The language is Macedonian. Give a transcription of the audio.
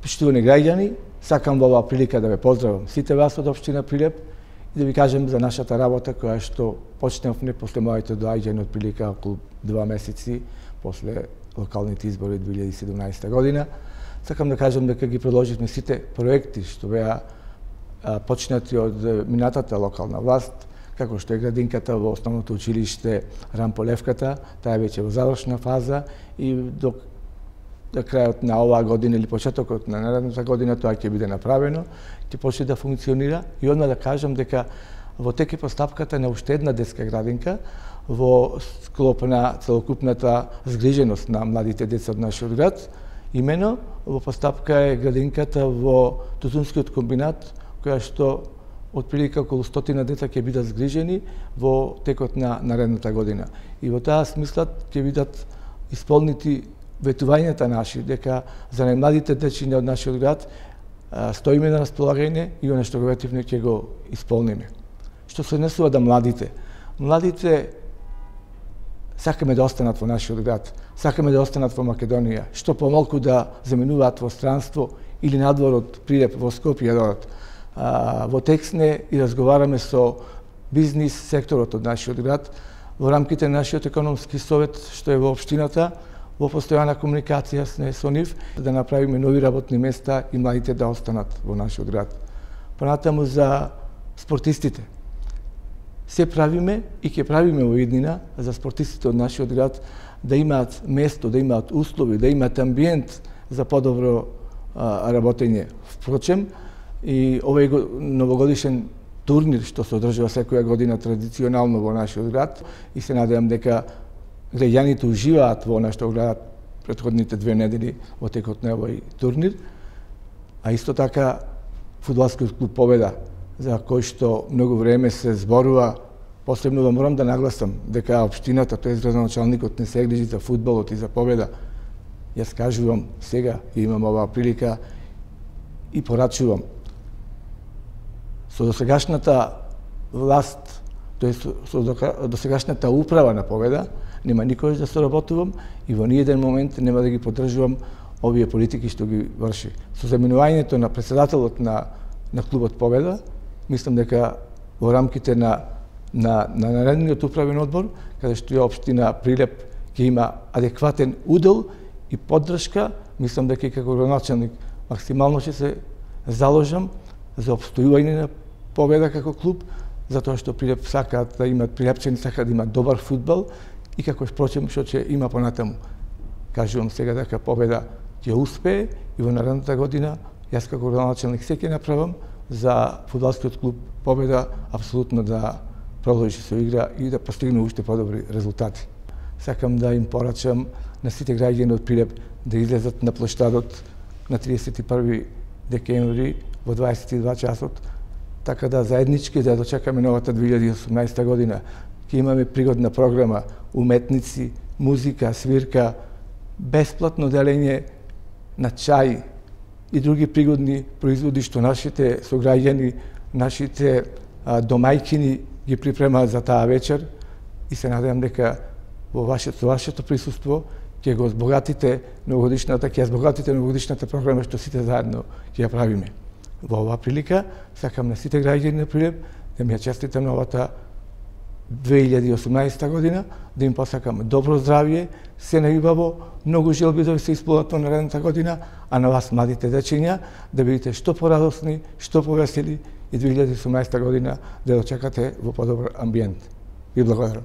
Поштувани граѓани, сакам во оваа прилика да ве поздравам сите вас од општина Прилеп и да ви кажем за нашата работа која што почнавме после моето доаѓање од прилика околу 2 месеци после локалните избори 2017 година. Сакам да кажам дека ги продолживме сите проекти што беа почнати од минатата локална власт, како што е градинката во основното училиште Рамполевката, таа е веќе во завршна фаза и до крајот на оваа година или почетокот на наредната година тоа ќе биде направено, ќе почне да функционира и одма да кажам дека во тек е постапката на уште една детска градинка во склоп на целокупната згриженост на младите деца од нашиот град. Имено во постапка е градинката во Тутунскиот комбинат, која што отприлика околу 100 деца ќе бидат згрижени во текот на наредната година. И во таа смисла ќе бидат исполнити ветувањата наши дека за најмладите дечиња од нашиот град стоиме на располагање и оно што го ветивме ќе го исполниме. Што се однесува до младите сакаме да останат во нашиот град, сакаме да останат во Македонија, што помалку да заминуваат во странство или надвор од Прилеп во Скопје додат. Во тексне и разговараме со бизнис секторот од нашиот град во рамките на нашиот економски совет што е во општината, во постојана комуникација со нив да направиме нови работни места и младите да останат во нашиот град. Понатаму за спортистите. Се правиме и ќе правиме во иднина за спортистите од нашиот град да имаат место, да имаат услови, да имаат амбиент за подобро работење. Впрочем, и овој новогодишен турнир што се одржува секоја година традиционално во нашиот град и се надевам дека граѓаните уживаат во она што гледат претходните 2 недели во текот на овој турнир, а исто така фудбалскиот клуб Победа, за кој што многу време се зборува. Посебно морам да нагласам дека општината, тоест градоначалникот, не се грижи за фудбалот и за Победа. Јас кажувам сега и имам оваа прилика и порачувам. Со досегашната власт, тоест со досегашната управа на Победа, нема никош да соработувам и во ниеден момент нема да ги поддржувам овие политики што ги врши. Со заминувањето на претседателот на клубот Победа, мислам дека во рамките на наредниот управен одбор, каде што е општина Прилеп ќе има адекватен удел и поддршка, мислам дека и како градоначалник максимално ќе се заложам за опстојување на Победа како клуб, затоа што Прилеп сакаат да имат прилепчани, сакаат да имат добар фудбал и како впрочем што ќе има понатаму. Кажувам сега дека Победа ќе успее и во наредната година јас како градоначалник се ќе направам за фудбалскиот клуб Победа апсолутно да продолжи со игра и да постигне уште подобри резултати. Сакам да им порачам на сите граѓани од Прилеп да излезат на плоштадот на 31 декември во 22 часот, така да заеднички да дочекаме новата 2018 година. Ќе имаме пригодна програма, уметници, музика, свирка, бесплатно делење на чај и други пригодни производи што нашите сограѓани, нашите домајќини ги припремаат за таа вечер и се надевам дека во вашето присуство ќе го збогатите новогодишната програма што сите заедно ќе ја правиме. Во оваа прилика сакам на сите граѓани на Прилеп да ми ја честитам новата 2018 година, да им посакам добро здравје, се најубаво, многу желби да се исполнат во наредната година, а на вас младите дечиња да бидете што порадосни, што повесели и 2018 година да дочекате во подобар амбиент. Ви благодарам.